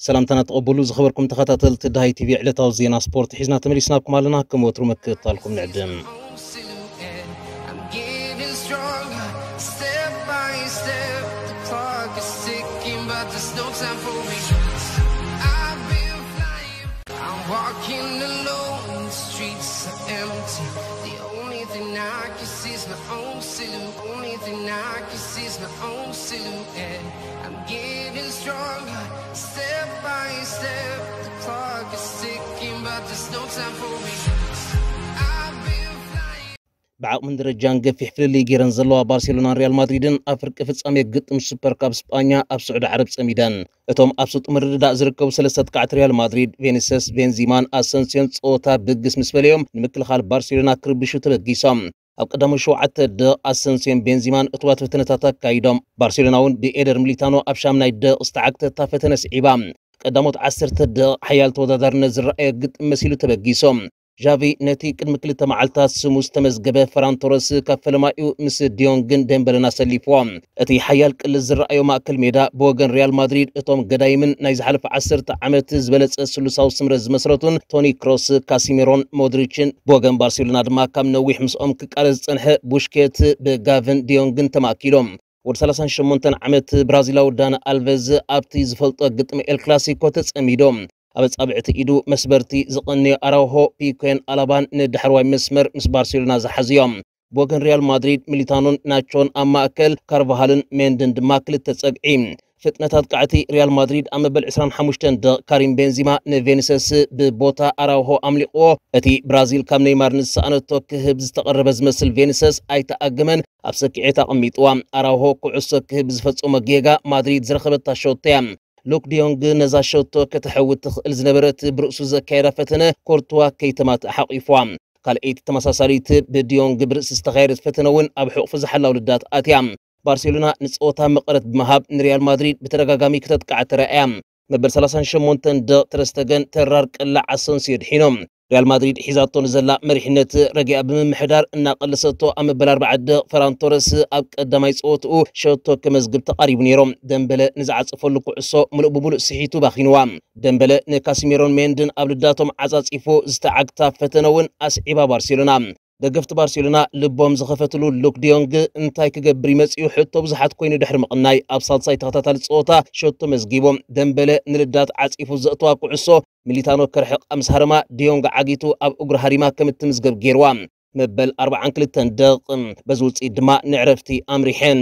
ሰላምታና ተቐበሉ ዝኸበርኩም ተኸታተልቲ ዳሃይ ቲቪ ዕለታዊ ዜና ስፖርት ሒዝና ተመሊስናኩም ኣለና። ከም ወትሩ ምክትታልኩም ንዕድም። I'm getting stronger, step by step. The clock is ticking, but there's no time for me. I've been flying, I'm walking alone. The streets are empty. The only thing I can see is my own silhouette. Only thing I can see is my own silhouette. I'm getting stronger, step by step. The clock is ticking, but there's no time for me. I've been flying. ብዓቕምን ደረጃን ገፊሕ ፍልልይ ገይረን ዘለዋ ባርሴሎናን ሪያል ማድሪድን ኣብ ፍርቂ ፍጻሜ ግጥም ሱፐር ካፕ ስጳኛ ኣብ ስዑዲ ዓረብ ጸሚደን። እቶም ኣብ ስጡም ምርድዳእ ዝርከቡ ሰለስተ ተካዕቲ ሪያል ማድሪድ ቬኒሰስ፣ ቤንዚማን ኣሰንሲዮን ጸወታ ብግስ ምስ በለዮም ንምክልኻል ባርሴሎና ክርብሹ ተበጊሶም። ኣብ ቀዳሞት ሸውዓተ ደቕ ኣሰንሲዮን ቤንዚማን እቱባት ፈተነታት ኣካይዶም። ባርሴሎና እውን ብኤደር ሚሊታኖ ኣብ ሻምናይ ደቕ ዝተዓግተታ ፈተነ ስዒባ። ቀዳሞት ዓሰርተ ደቕ ሓያል ተወዳዳርነት ዝረኣየ ግጥም መሲሉ ተበጊሶም። ዣቪ ነቲ ቅድሚ ክልተ መዓልታት ስሙ ዝተመዝገበ ፈራን ቶረስ ካብ ፈለማኡ ምስ ዲዮንግን ደምበለን ኣሰሊፍዎ። እቲ ሓያል ቅልስ ዝረኣዮ ማእከል ሜዳ ብወገን ሪያል ማድሪድ እቶም ገዳይምን ናይ ዝሓለፈ ዓሰርተ ዓመት ዝበለጸ ስሉሳዊ ስምረት ዝመስረቱን ቶኒ ክሮስ፣ ካሲሜሮን ሞድሪችን፣ ብወገን ባርሴሎና ድማ ካብ ነዊሕ ምስኦም ክቃለስ ዝጸንሐ ቡሽኬት ብጋቭን ዲዮንግን ተማእኪሎም። ወዲ ሰላሳን ሸሞንተን ዓመት ብራዚላዊ ዳኒ ኣልቨዝ ኣብቲ ዝፈልጦ ግጥሚ ኤል ክላሲኮ ተጸሚዶም። ኣብ ኣጻብዕቲ ኢዱ መስበርቲ ዝቐንዮ ኣራውሆ፣ ፒኮን ኣላባን ንዳሕረዋይ መስመር ምስ ባርሴሎና ዝሓዝዮም። ብወገን ሪያል ማድሪድ ሚሊታኖን ናቾን ኣብ ማእከል፣ ካርቫሃልን ሜንድን ድማ ክልተ ጸግዒ። ፍጥነት ኣጥቃዕቲ ሪያል ማድሪድ ኣብ መበል ዕስራን ሓሙሽተን ደቕ ካሪም ቤንዚማ ንቬኒሰስ ብቦታ ኣራውሆ ኣምሊቕዎ። እቲ ብራዚል ካብ ኔይማር ንዝሰኣነቶ ክህብ ዝተቐረበ ዝመስል ቬኒሰስ ኣይተኣገመን፣ ኣብ ሰኪዔት ኣቐሚጥዋ። ኣራውሆ ኩዕሶ ክህብ ዝፈጸሞ ጌጋ ማድሪድ ዝረኸበታ ሸቶ እያ። ሉክ ዲዮንግ ነዛ ሸቶ ከተሕውት ትኽእል ዝነበረት ብርእሱ ዘካየዳ ፈተነ ኮርትዋ ከይተማትእ ሓቒፍዋ። ካልኣይቲ ተመሳሳሊት ብዲዮንግ ብርእሲ ዝተኻየደት ፈተነ እውን ኣብ ሕቑፊ ዝሓላው ልዳት ኣትያ። ባርሴሎና ንጸወታ መቐረት ብምሃብ ንሪያል ማድሪድ ብተደጋጋሚ ክተጥቃዕ ተራእያ። መበል ሰላሳን ሸሞንተን ደቕ ተረስተገን ተራር ቅላዕ ኣሰንሲዮ ድሒኖም። ሪያል ማድሪድ ሒዛቶ ንዘላ መሪሕነት ረጊኣ ብምምሕዳር እናቐለሰቶ ኣብ መበል ኣርባዓ ደቕ ፈራን ቶረስ ኣብ ቀዳማይ ጸወትኡ ሸቶ ከመዝግብ ተቓሪቡ ነይሩ። ደምበለ ንዝዓጸፈሉ ኩዕሶ ምሉእ ብምሉእ ስሒቱ ባኺንዋ። ደምበለ ንካሲሜሮን ሜንድን ኣብ ልዳቶም ዓጻጺፉ ዝተዓግታ ፈተነ እውን ኣስዒባ ባርሴሎና። ደገፍቲ ባርሴሎና ልቦም ዝኸፈትሉ ሉክ ዲዮንግ እንታይ ክገብር ይመጽኡ ሕቶ ብዙሓት ኮይኑ ድሕሪ ምቕናይ ኣብ ሳልሳይ ተኸታታሊ ጸወታ ሸቶ መዝጊቦም። ደምበለ ንልዳት ዓጺፉ ዘእተዋ ኩዕሶ ሚሊታኖ ከርሕቕ ምስ ሃረማ ዲዮንግ ዓጊቱ ኣብ እግሩ ሃሪማ ከም እትምዝገብ ገይርዋ። መበል ኣርባዓን ክልተን ደቕ በዚ ውጽኢት ድማ ንዕረፍቲ ኣምሪሐን።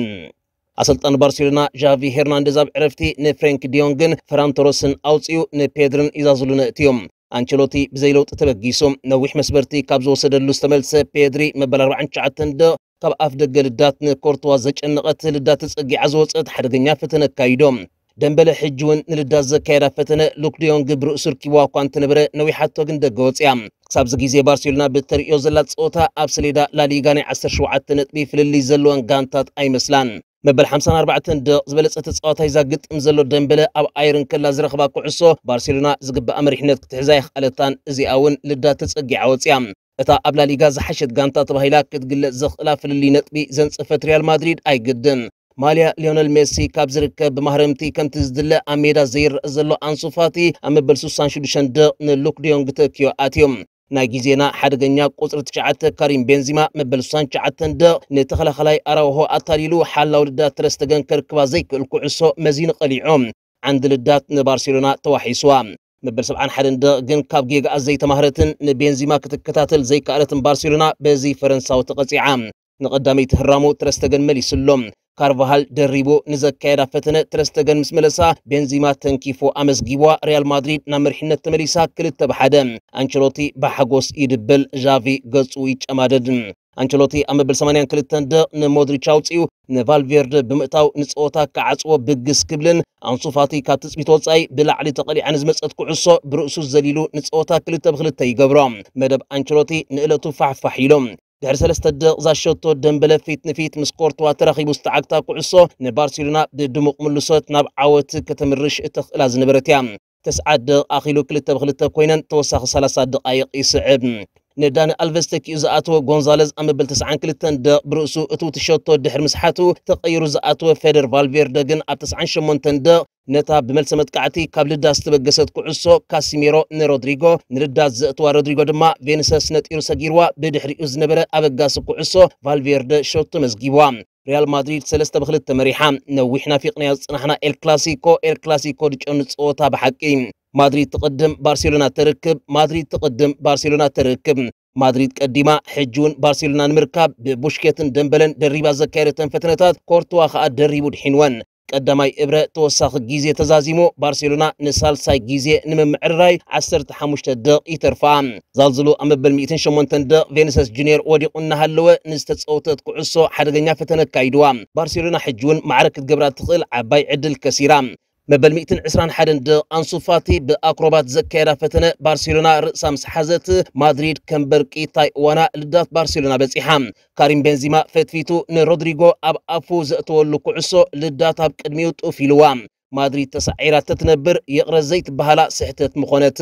ኣሰልጣኒ ባርሴሎና ዣቪ ሄርናንደዝ ኣብ ዕረፍቲ ንፍሬንክ ዲዮንግን ፈራን ቶረስን ኣውጺኡ ንፔድርን ኢዛዙልን ኣእትዮም። ኣንቸሎቲ ብዘይ ለውጢ ተበጊሱ። ነዊሕ መስበርቲ ካብ ዝወሰደሉ ዝተመልሰ ፔድሪ መበል ኣርባዓን ትሽዓተን ደቕ ካብ ኣፍ ደገ ልዳት ንኮርትዋ ዘጨነቐት ልዳት ተጸጊዓ ዝወጸት ሓደገኛ ፈተነ ኣካይዶ። ደምበለ ሕጂ እውን ንልዳት ዘካየዳ ፈተነ ሉክ ዲዮንግ ብርእሱ ርኪብዋ እኳ እንተነበረ ነዊሓቶ ግን ደገ ወጽያ። ክሳብዚ ግዜ ባርሴሎና ብተርእዮ ዘላ ጸወታ ኣብ ሰሌዳ ላሊጋ ናይ ዓሰርተ ሸውዓተ ነጥቢ ፍልልይ ዘለወን ጋንታት ኣይመስላን። መበል ሓምሳን ኣርባዕተን ደቕ ዝበለጸ ተጻዋታይ እዛ ግጥም ዘሎ ደምበለ ኣብ ኣየር እንከላ ዝረኽባ ኩዕሶ ባርሴሎና ዝግባኣ መሪሕነት ክትሕዛ ኣይኽኣለታን። እዚኣ እውን ልዳት ተጸጊዓ ወጽያ። እታ ኣብ ላሊጋ ዝሓሸት ጋንታ ተባሂላ ክትግለጽ ዘኽእላ ፍልልይ ነጥቢ ዘንጸፈት ሪያል ማድሪድ ኣይግድን። ማልያ ሊዮነል ሜሲ ካብ ዝርከብ ብማህረምቲ ከምቲ ዝድለ ኣብ ሜዳ ዘይረአ ዘሎ ኣንሱ ፋቲ ኣብ መበል ስሳን ሽዱሽተን ደቕ ንሉክ ዲዮንግ ተኪዮ ኣትዮም። ናይ ግዜና ሓደገኛ ቁጽሪ ትሽዓተ ካሪም ቤንዚማ መበል ስሳን ትሽዓተን ደቕ ንተኸላኸላይ ኣራውሆ ኣታሊሉ ሓላው ልዳት ተረስተገን ከርክባ ዘይክእል ኩዕሶ መዚኑ ቀሊዖ። ዓንዲ ልዳት ንባርሴሎና ተዋሒስዋ። መበል ሰብዓን ሓደን ደቕ ግን ካብ ጌጋኣ ዘይተማህረትን ንቤንዚማ ክትከታተል ዘይከኣለትን ባርሴሎና በዚ ፈረንሳዊ ተቐጺዓ። ንቐዳመይቲ ህራሙ ተረስተገን መሊስሎ። ካርቫሃል ደሪቡ ንዘካየዳ ፈተነ ተረስተገን ምስ መለሳ ቤንዚማ ተንኪፉ ኣመዝጊብዋ። ሪያል ማድሪድ ናብ መሪሕነት ተመሊሳ ክልተ ብሓደ። ኣንቸሎቲ ብሓጎስ ይድብል፣ ዣቪ ገጹ ይጨማደድ። ኣንቸሎቲ ኣብ መበል ሰማንያን ክልተን ደቕ ንሞድሪች ኣውጺኡ ንቫልቬርደ ብምእታው ንጸወታ ክዓጽዎ ብግስ ክብልን ኣንሱ ፋቲ ካብ ትጽቢት ወጻኢ ብላዕሊ ተቐሊዓ ንዝመጸት ኩዕሶ ብርእሱ ዘሊሉ ንጸወታ ክልተ ብክልተ ይገብሮ። መደብ ኣንቸሎቲ ንእለቱ ፋሕፋሕ ኢሎም። ድሕሪ ሰለስተ ደቕ ዛሸቶ ደምበለ ፊት ንፊት ምስ ኮርትዋ ተራኺቡ ዝተዓግታ ኩዕሶ ንባርሴሎና ብድሙቕ ምልሶት ናብ ዓወት ከተምርሽ እተኽእላ ዝነበረት እያ። ተስዓት ደቕ ኣኺሉ ክልተ ብክልተ ኮይነን ተወሳኺ ሰላሳ ደቓይቕ ይስዕብ። ንዳኒ ኣልቨስ ተኪኡ ዝኣተወ ጎንዛለዝ ኣብ መበል ተስዓን ክልተን ደቕ ብርእሱ እትውቲ ሸቶ ድሕሪ ምስሓቱ ተቐይሩ ዝኣተወ ፌደር ቫልቬርደ ግን ኣብ ተስዓን ሸሞንተን ደቕ ነታ ብመልሰ መጥቃዕቲ ካብ ልዳት ዝተበገሰት ኩዕሶ ካሲሜሮ ንሮድሪጎ፣ ንልዳት ዘእተዋ ሮድሪጎ ድማ ቬኒሰስ ነጢሩ ሰጊርዋ። ብድሕሪኡ ዝነበረ ኣበጋሲ ኩዕሶ ቫልቬርደ ሸቶ መዝጊብዋ። ሪያል ማድሪድ ሰለስተ ብክልተ መሪሓ። ነዊሕ ናፊቕናዮ ዝጽናሕና ኤል ክላሲኮ፣ ኤል ክላሲኮ ድጨኑ ጸወታ ብሓቂ። ማድሪድ ትቕድም፣ ባርሴሎና ተርክብ፣ ማድሪድ ትቕድም፣ ባርሴሎና ተርክብ። ማድሪድ ቀዲማ፣ ሕጂ እውን ባርሴሎና ንምርካብ ብቡሽኬትን ደምበለን ደሪባ ዘካየደተን ፈተነታት ኮርትዋ ከኣ ደሪቡ ድሒንወን። ቀዳማይ እብረ ተወሳኺ ግዜ ተዛዚሙ፣ ባርሴሎና ንሳልሳይ ግዜ ንምምዕርራይ ዓሰርተ ሓሙሽተ ደቕ ይተርፋ። ዛልዝሉ ኣብ መበል ሚእትን ሸሞንተን ደቕ ቬኒሰስ ጁኒየር ወዲቑ እናሃለወ ንዝተጸወተት ኩዕሶ ሓደገኛ ፈተነ ኣካይድዋ። ባርሴሎና ሕጂ እውን ማዕረ ክትገብራ ትኽእል ዓባይ ዕድል ከሲራ። መበል ሚእትን ዕስራን ሓደን ደቕ ኣንሱ ፋቲ ብኣክሮባት ዘካየዳ ፈተነ ባርሴሎና ርእሳ ምስ ሓዘት፣ ማድሪድ ከም በርቂ ታይ እዋና ልዳት ባርሴሎና በጺሓ። ካሪም ቤንዚማ ፈትፊቱ ንሮድሪጎ ኣብ ኣፉ ዘእተወሉ ኩዕሶ ልዳት ኣብ ቅድሚኡ ጡፍ ኢልዋ። ማድሪድ ተሳዒራ ተትነብር ይቕረ ዘይትበሃላ ስሕተት ምኾነት።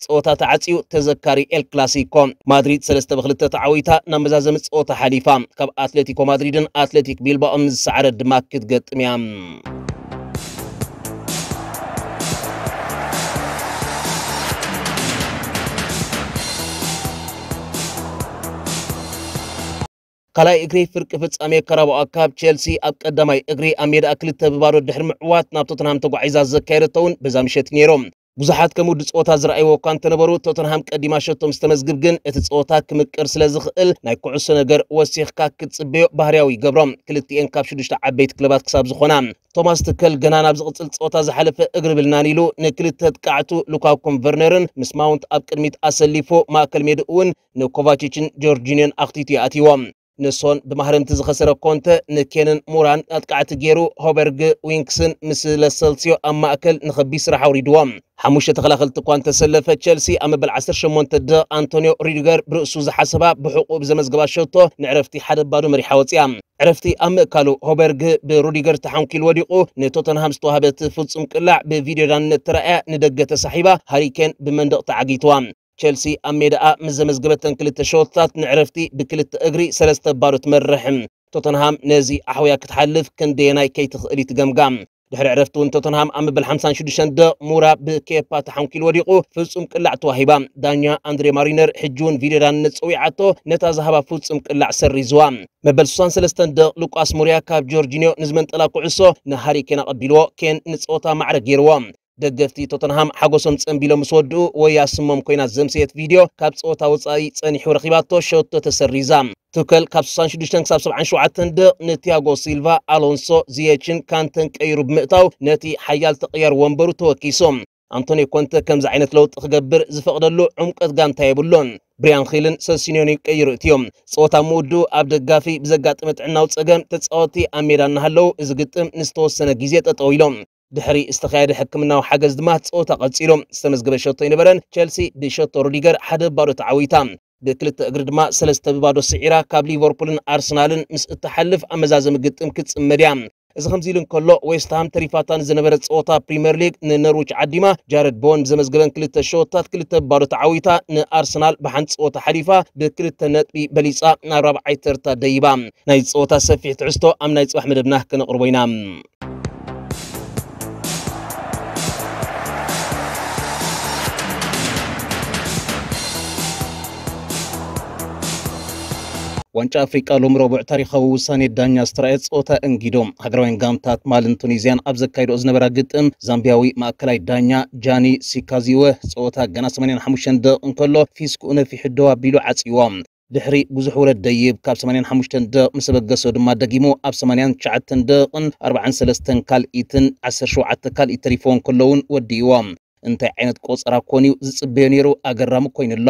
ጸወታ ተዓጽዩ ተዘካሪ ኤል ክላሲኮ። ማድሪድ ሰለስተ ብክልተ ተዓዊታ ናብ መዛዘሚ ጸወታ ሓሊፋ። ካብ ኣትሌቲኮ ማድሪድን ኣትሌቲክ ቢልባኦን ዝሰዓረት ድማ ክትገጥም እያ። ካልኣይ እግሪ ፍርቂ ፍጻሜ ካራባኦ ካፕ ቸልሲ ኣብ ቀዳማይ እግሪ ኣብ ሜዳ ክልተ ብባዶ ድሕሪ ምዕዋት ናብ ቶተንሃም ተጓዒዛ ዘካየደቶ እውን በዛ ምሸት እዩ ነይሩ። ብዙሓት ከም ውዲ ጸወታ ዝረኣይዎ እኳ እንተነበሩ፣ ቶተንሃም ቀዲማ ሸቶ ምስ ተመዝግብ ግን እቲ ጸወታ ክምቅር ስለ ዝኽእል ናይ ኩዕሶ ነገር ወሲኽካ ክትጽበዮ ባህርያዊ ይገብሮ። ክልቲኤን ካብ ሽዱሽተ ዓበይቲ ክለባት ክሳብ ዝኾና። ቶማስ ትከል ገና ናብ ዝቕጽል ጸወታ ዝሓለፈ እግሪ ብልናን ኢሉ ንክልተ ኣጥቃዕቱ ሉካኩን ቨርነርን ምስ ማውንት ኣብ ቅድሚት ኣሰሊፉ ማእከል ሜድኡ እውን ንኮቫቺችን ጆርጂኒዮን ኣኽቲቱ ይኣትይዎም። ንሶን ብማህረምቲ ዝኸሰረ ኮንተ ንኬንን ሙራን ኣጥቃዕቲ ገይሩ፣ ሆበርግ ዊንክስን ምስ ለሰልሲዮ ኣብ ማእከል ንኸቢድ ስራሕ ኣውሪድዎም። ሓሙሽተ ተኸላኸልቲ እኳ እንተሰለፈ፣ ቸልሲ ኣብ መበል ዓሰርተ ሸሞንተ ደቕ ኣንቶኒዮ ሪዲገር ብርእሱ ዝሓሰባ ብሕቑኡ ብዘመዝገባ ሸቶ ንዕረፍቲ ሓደ ባዶ መሪሓ ወፂኣ። ዕረፍቲ ኣብ ምእካሉ፣ ሆበርግ ብሩዲገር ተሓንኪሉ ወዲቑ፣ ንቶተንሃም ዝተዋህበት ፍጹም ቅላዕ ብቪድዮ ዳንነት ተራእያ ንደገ ተሳሒባ፣ ሃሪኬን ብመንደቕ ተዓጊትዋ። ቸልሲ ኣብ ሜዳኣ ምስ ዘመዝገበተን ክልተ ሸወታት ንዕረፍቲ ብክልተ እግሪ ሰለስተ ባዶ ትመርሕ። ቶተንሃም ነዚ ኣሕውያ ክትሓልፍ ክንደየናይ ከይትኽእል እዩ ትገምጋም። ድሕሪ ዕረፍቲ እውን ቶተንሃም ኣብ መበል ሓምሳን ሽዱሽተን ደቕ ሙራ ብኬፓ ተሓንኪሉ ወዲቑ ፍጹም ቅላዕ ተዋሂባ። ዳኛ ኣንድሬ ማሪነር ሕጂ እውን ቪድዮ ዳንነት ጸዊዓቶ ነታ ዝሃባ ፍጹም ቅላዕ ሰሪዝዋ። መበል ስሳን ሰለስተን ደቕ ሉቃስ ሙሪያ ካብ ጆርጂኒዮ ንዝመንጠላ ኩዕሶ ንሃሪ ኬን ኣቐቢልዎ። ኬን ንጸወታ ማዕረ ገይርዎ። ደገፍቲ ቶተንሃም ሓጎሶም ጸንቢሎም ምስ ወድኡ፣ ወያ ስሞም ኮይና ዘምሰየት ቪድዮ ካብ ጸወታ ወጻኢ ጸኒሑ ረኺባቶ ሸቶ ተሰሪዛ። ቱከል ካብ ስሳን ሽዱሽተን ክሳብ ሰብዓን ሸውዓተን ደቕ ንቲያጎ ሲልቫ፣ ኣሎንሶ፣ ዚየችን ካንተን ቀይሩ ብምእታው ነቲ ሓያል ተቐያር ወንበሩ ተወኪሱ። ኣንቶኒ ኮንተ ከምዚ ዓይነት ለውጢ ክገብር ዝፈቕደሉ ዕምቀት ጋንታ የብሉን። ብሪያን ኺልን ሰሲኒዮን ቀይሩ እትዮም። ጸወታ ምውድኡ ኣብ ደጋፊ ብዘጋጠመ ጥዕናዊ ጸገም ተጻወትቲ ኣብ ሜዳ እናሃለዉ እዚ ግጥም ንዝተወሰነ ግዜ ጠጠው ኢሎም። ድሕሪ ዝተኻየደ ሕክምናዊ ሓገዝ ድማ ጸወታ ቀጺሉ። ዝተመዝገበ ሸቶ ኣይነበረን። ቸልሲ ብሸቶ ሩዲገር ሓደ ባዶ ተዓዊታ። ብክልተ እግሪ ድማ ሰለስተ ብባዶ ስዒራ ካብ ሊቨርፑልን ኣርሰናልን ምስ እትሓልፍ ኣብ መዛዘሚ ግጥም ክትጽመድ እያ። እዚ ከምዚ ኢሉ እንከሎ፣ ዌስትሃም ተሪፋታ ንዝነበረ ጸወታ ፕሪምየር ሊግ ንኖርዊች ዓዲማ፣ ጃረድ ቦወን ብዘመዝገበን ክልተ ሸወታት ክልተ ብባዶ ተዓዊታ፣ ንኣርሰናል ብሓንቲ ጸወታ ሓሊፋ ብክልተ ነጥቢ በሊጻ ናብ ራብዓይ ተርታ ደይባ። ናይ ጸወታ ሰፊሕ ትሕዝቶ ኣብ ናይ ጽባሕ መደብና ከነቕርቦ ኢና። ዋንጫ ኣፍሪቃ ሎም ረቡዕ ታሪኻዊ ውሳኔ ዳኛ ዝተራእየ ጸወታ እንጊዶ። ሃገራውያን ጋንታት ማልን ቱኒዝያን ኣብ ዘካይዶ ዝነበራ ግጥም ዛምቢያዊ ማእከላይ ዳኛ ጃኒ ሲካዚወ ጸወታ ገና ሰማንያን ሓሙሽተን ደቕ እንከሎ ፊስኩኡ ነፊሑ ደው ኣቢሉ ዓጽይዎ። ድሕሪ ብዙሕ ውረድ ደይብ ካብ ሰማንያን ሓሙሽተን ደቕ ምስ ኣበገሶ ድማ ደጊሙ ኣብ ሰማንያን ትሽዓተን ደቕን ኣርባዓን ሰለስተን ካልኢትን ዓሰርተ ሸውዓተ ካልኢት ተሪፍዎ እንከሎ እውን ወዲእዎ። እንታይ ዓይነት ቆጸራ ኮን እዩ ዝጽበዮ ነይሩ? ኣገራሚ ኮይኑሎ።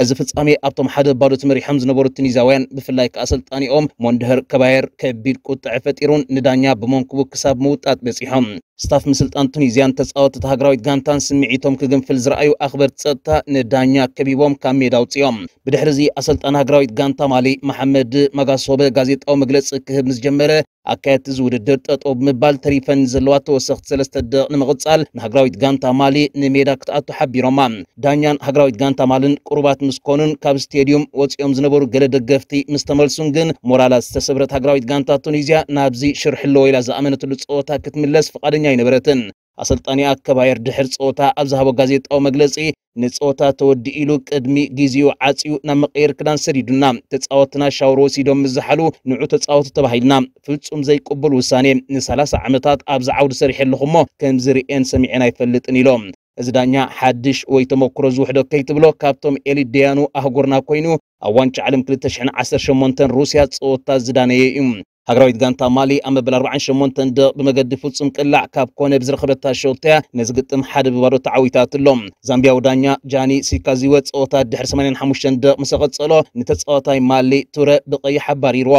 እዚ ፍጻሜ ኣብቶም ሓደ ባዶ ተመሪሖም ዝነበሩ ቱኒዝያውያን ብፍላይ ከኣ ኣሰልጣኒኦም ሞንድሀር ከባየር ከቢድ ቁጥዐ ፈጢሩን ንዳኛ ብመንኩቡ ክሳብ ምውጣጥ በጺሖም። ስታፍ ምስልጣን ቱኒዝያን ተጻወትቲ ሃገራዊት ጋንታን ስምዒቶም ክግንፍል ዝረኣዩ ኣኽበርቲ ጸጥታ ንዳኛ ከቢቦም ካብ ሜዳ ኣውጺኦም። ብድሕሪ እዚ ኣሰልጣን ሃገራዊት ጋንታ ማሊ መሓመድ ማጋሶበ ጋዜጣዊ መግለጺ ክህብ ምስ ጀመረ ኣካየድቲ እዚ ውድድር ጠጠው ብምባል ተሪፈን ዘለዋ ተወሰኽቲ ሰለስተ ደቂቕ ንምቕጻል ንሃገራዊት ጋንታ ማሊ ንሜዳ ክትኣቱ ሓቢሮማ። ዳኛን ሃገራዊት ጋንታ ማልን ቅሩባት ምስ ኮኑን ካብ ስቴድዩም ወጺኦም ዝነበሩ ገለ ደገፍቲ ምስ ተመልሱን ግን ሞራላ ዝተሰብረት ሃገራዊት ጋንታ ቱኒዝያ ናብዚ ሽርሒ ኣለዎ ኢላ ዝኣመነትሉ ጸወታ ክትምለስ ፍቓደኛ ኣይነበረትን። ኣሰልጣኒኣ ከባየር ድሕሪ ጸወታ ኣብ ዝሃቦ ጋዜጣዊ መግለጺ፣ ንጸወታ ተወዲኡ ኢሉ ቅድሚ ግዜኡ ዓጽዩ ናብ መቐየሪ ክዳን ሰዲዱና። ተጻወትና ሻወር ወሲዶም ምስ ዝሓሉ ንዑ ተጻወቱ ተባሂልና። ፍጹም ዘይቅቡል ውሳኔ። ን30 ዓመታት ኣብዚ ዓውዲ ሰሪሐ ኣለኹ እሞ ከምዚ ርእየን ሰሚዐን ኣይፈልጥን ኢሎም። እዚ ዳኛ ሓድሽ ወይ ተመክሮ ዝውሕዶ ከይትብሎ ካብቶም ኤሊት ደያኑ ኣህጉርና ኮይኑ ኣብ ዋንጫ ዓለም ክልተ ሽሕን ዓሰርተ ሸሞንተን ሩስያ ጸወታ ዝዳነየ እዩ። ሃገራዊት ጋንታ ማሊ ኣብ መበል ኣርባዓን ሸሞንተን ደቕ ብመገዲ ፍጹም ቅላዕ ካብ ኮነ ብዝረኸበታ ሸውተያ ነዚ ግጥም ሓደ ብባዶ ተዓዊታትሎ። ዛምቢያዊ ዳኛ ጃኒ ሲካዚወ ጸወታ ድሕሪ ሰማንያን ሓሙሽተን ደቕ ምስ ቀጸሎ ንተጻዋታይ ማሊ ቱረ ብቐይሕ ኣባሪርዎ።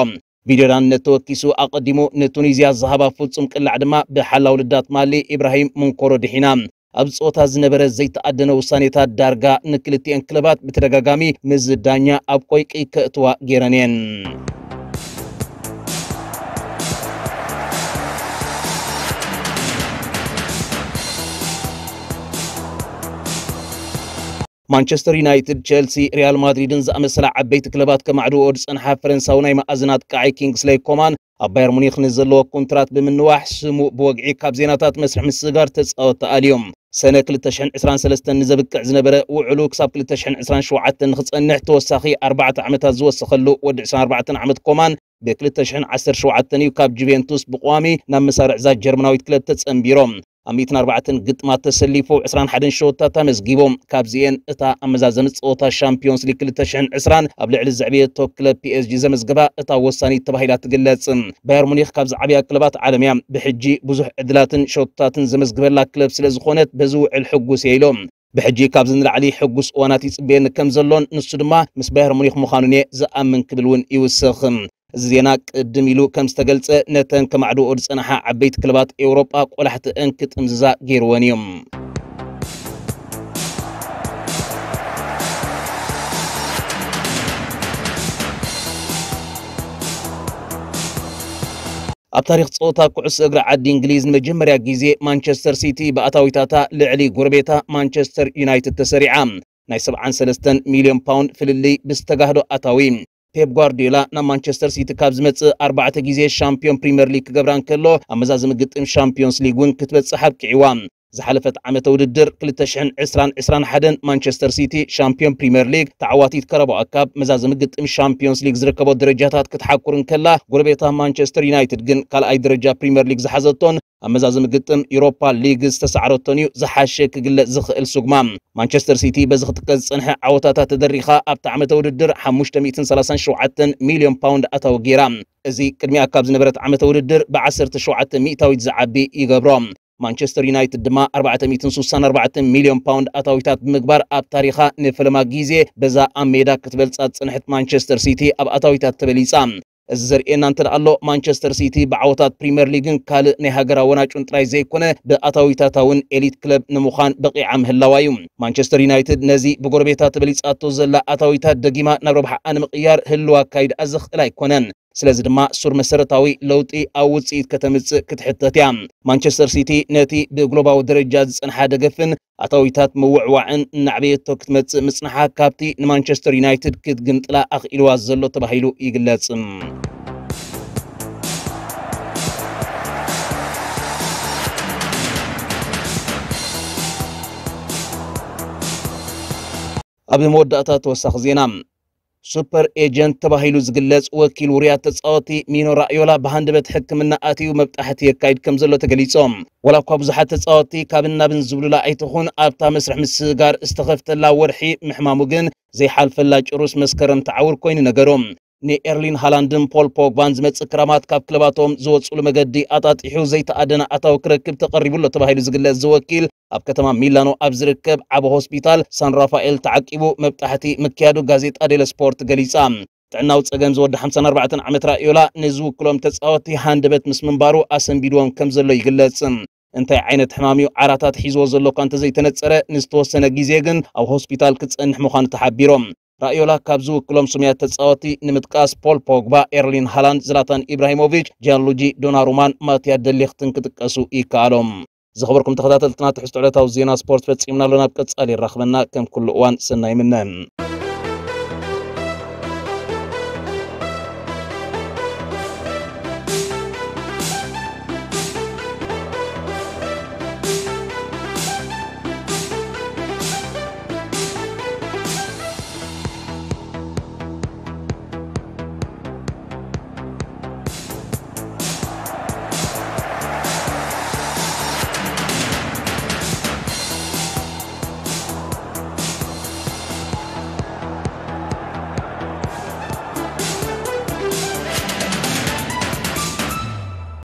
ቪድዮ ዳንነት ተወኪሱ ኣቐዲሙ ንቱኒዝያ ዝሃባ ፍጹም ቅላዕ ድማ ብሓላው ልዳት ማሊ ኢብራሂም ሙንኮሮ ድሒና። ኣብ ጸወታ ዝነበረ ዘይተኣደነ ውሳኔታት ዳርጋ ንክልቲኤን ክለባት ብተደጋጋሚ ምስ ዳኛ ኣብ ቆይቂ ከእትዋ ገይረን እየን። ማንቸስተር ዩናይትድ፣ ቸልሲ፣ ሪያል ማድሪድን ዝኣመሰላ ዓበይቲ ክለባት ከማዕድዎ ዝጸንሓ ፈረንሳዊ ናይ መኣዝን ኣጥቃዓይ ኪንግስለይ ኮማን ኣብ ባየር ሙኒክ ንዘለዎ ኮንትራት ብምንዋሕ ስሙ ብወግዒ ካብ ዜናታት መስርሕ ምስግጋር ተጻወቲ ኣልዮም። ሰነ ክልተ ሽሕን ዕስራን ሰለስተን ንዘብቅዕ ዝነበረ ውዕሉ ክሳብ ክልተ ሽሕን ዕስራን ሸውዓተን ንኽጸንሕ ተወሳኺ ኣርባዕተ ዓመታት ዝወሰኸሉ ወዲ ዕስራን ኣርባዕተን ዓመት ኮማን ብ ክልተ ሽሕን ዓሰርተ ሸውዓተን እዩ ካብ ጁቬንቱስ ብቋሚ ናብ መሳርዕ እዛ ጀርመናዊት ክለብ ተጸንቢሮም። ኣብ ሚእትን ኣርባዕተን ግጥማት ተሰሊፉ ዕስራን ሓደን ሸወታት ኣመዝጊቡ። ካብዚኤን እታ ኣብ መዛዘሚ ጸወታ ሻምፒዮንስ ሊግ ክልተ ሽሕን ዕስራን ኣብ ልዕሊ ዘዕበየቶ ክለብ ፒ ኤስ ጂ ዘመዝገባ እታ ወሳኒት ተባሂላ ትግለጽ። ባየር ሙኒክ ካብ ዝዓበያ ክለባት ዓለም እያ። ብሕጂ ብዙሕ ዕድላትን ሸወታትን ዘመዝግበላ ክለብ ስለ ዝኾነት በዚ ውዕል ሕጉስ እየ ኢሉ። ብሕጂ ካብዚ ንላዕሊ ሕጉስ እዋናት ይጽበየኒ ከም ዘሎን ንሱ ድማ ምስ ባየር ሙኒክ ምዃኑን እየ ዝኣምን ክብል እውን ይውስኽ። እዚ ዜና ቅድም ኢሉ ከም ዝተገልጸ ነተን ከማዕድኦ ዝጸንሓ ዓበይቲ ክለባት ኤውሮጳ ቆላሕትአን ክጥምዝዛ ገይርወን እዩ። ኣብ ታሪኽ ጸወታ ኩዕሶ እግሪ ዓዲ እንግሊዝ ንመጀመርያ ግዜ ማንቸስተር ሲቲ ብኣታዊታታ ልዕሊ ጎረቤታ ማንቸስተር ዩናይትድ ተሰሪዓ። ናይ ሰብዓን ሰለስተን ሚልዮን ፓውንድ ፍልልይ ብዝተጋህዶ ኣታዊ። ፔፕ ጓርዲዮላ ናብ ማንቸስተር ሲቲ ካብ ዝመጽእ ኣርባዕተ ግዜ ሻምፒዮን ፕሪምየር ሊግ ክገብራ እንከሎ፣ ኣብ መዛዘሚ ግጥም ሻምፒዮንስ ሊግ እውን ክትበጽሕ ኣብቂዕዋ። ዝሓለፈት ዓመተ ውድድር ክልተ ሽሕን ዕስራን ዕስራን ሓደን ማንቸስተር ሲቲ ሻምፒዮን ፕሪምየር ሊግ፣ ተዓዋቲት ካራባኦ ካፕ፣ መዛዘሚ ግጥም ሻምፒዮንስ ሊግ ዝርከቦ ደረጃታት ክትሓኩር እንከላ፣ ጎረቤታ ማንቸስተር ዩናይትድ ግን ካልኣይ ደረጃ ፕሪምየር ሊግ ዝሓዘቶን ኣብ መዛዘሚ ግጥም ዩሮፓ ሊግ ዝተሳዕረቶን እዩ ዝሓሸ ክግለጽ ዝኽእል ስጉማ። ማንቸስተር ሲቲ በዚ ክጥቀስ ዝጸንሐ ዓወታታ ተደሪኻ ኣብቲ ዓመተ ውድድር ሓሙሽተ ሚእትን ሰላሳን ሸውዓተን ሚልዮን ፓውንድ ኣታዊ ገይራ። እዚ ቅድሚኣ ካብ ዝነበረት ዓመተ ውድድር ብ ዓሰርተ ሸውዓተ ሚእታዊት ዝዓቢ ይገብሮ። ማንቸስተር ዩናይትድ ድማ ኣርባዕተ ሚእትን ስሳን ኣርባዕተን ሚልዮን ፓውንድ ኣታዊታት ብምግባር ኣብ ታሪኻ ንፈለማ ግዜ በዛ ኣብ ሜዳ ክትበልጻ ዝጸንሐት ማንቸስተር ሲቲ ኣብ ኣታዊታት ተበሊጻ። እዚ ዘርእየና እንተ ደኣ ኣሎ፣ ማንቸስተር ሲቲ ብዓወታት ፕሪምየር ሊግን ካልእ ናይ ሃገራ ወናጩን ጥራይ ዘይኮነ፣ ብኣታዊታታ እውን ኤሊት ክለብ ንምዃን በቒዓ ምህላዋ እዩ። ማንቸስተር ዩናይትድ ነዚ ብጎረቤታ ተበሊጻቶ ዘላ ኣታዊታት ደጊማ ናብ ረብሓኣ ንምቕያር ህልው ኣካይድኣ ዘኽእል ኣይኮነን። ስለዚ ድማ ሱር መሰረታዊ ለውጢ ኣብ ውጽኢት ከተምጽእ ክትሕተት እያ። ማንቸስተር ሲቲ ነቲ ብግሎባዊ ደረጃ ዝጸንሓ ደገፍን ኣታዊታት ምውዕዋዕን እናዕበየቶ ክትመጽእ ምጽንሓ ካብቲ ንማንቸስተር ዩናይትድ ክትግምጥላ ኣኽኢልዋ ዘሎ ተባሂሉ ይግለጽ። ኣብ መወዳእታ ተወሳኺ ዜና። ሱፐር ኤጀንት ተባሂሉ ዝግለጽ ወኪል ውሩያት ተጻወቲ ሚኖ ራዮላ ብሃንደበት ሕክምና ኣትዩ መብጣሕቲ የካይድ ከም ዘሎ ተገሊጾም። ዋላ እኳ ብዙሓት ተጻወቲ ካብን ናብን ዝብሉላ ኣይትኹን ኣብታ መስርሕ ምስግጋር ዝተኸፍተላ ወርሒ ምሕማሙ ግን ዘይሓልፈላ ጭሩስ መስከረም ተዓውር ኮይኑ ነገሮም። ንኤርሊን ሃላንድን ፖል ፖግባን ዝመጽእ ክራማት ካብ ክለባቶም ዝወጽሉ መገዲ ኣጣጢሑ ዘይተኣደነ ኣታዊ ክረክብ ተቐሪቡ ኣሎ ተባሂሉ ዝግለጽ ዝወኪል ኣብ ከተማ ሚላኖ ኣብ ዝርከብ ዓቢ ሆስፒታል ሳን ራፋኤል ተዓቂቡ መብጣሕቲ ምክያዱ ጋዜጣ ዴለ ስፖርት ገሊጻ። ጥዕናዊ ጸገም ዝወዲ ሓምሳን ኣርባዕተን ዓመት ራዮላ ንዝውክሎም ተጻወቲ ሃንደበት ምስ ምንባሩ ኣሰንቢድዎም ከም ዘሎ ይግለጽ። እንታይ ዓይነት ሕማም እዩ ዓራታት ሒዝዎ ዘሎ እኳ እንተዘይተነጸረ፣ ንዝተወሰነ ግዜ ግን ኣብ ሆስፒታል ክጸንሕ ምዃኑ ተሓቢሮም። ራዮላ ካብ ዝውክሎም ስሙያት ተጻወቲ ንምጥቃስ ፖል ፖግባ፣ ኤርሊን ሃላንድ፣ ዝላታን ኢብራሂሞቪች፣ ጂያንሉጂ ዶናሩማን ማቲያ ደሊኽትን ክጥቀሱ ይከኣሎም። ዝኸበርኩም ተኸታተልትና ትሕዝቶ ዕለታዊ ዜና ስፖርት ፈጺምና ኣሎ። ናብ ቀጻሊ ይራኽበና። ከም ኩሉ እዋን ሰናይ ምነ።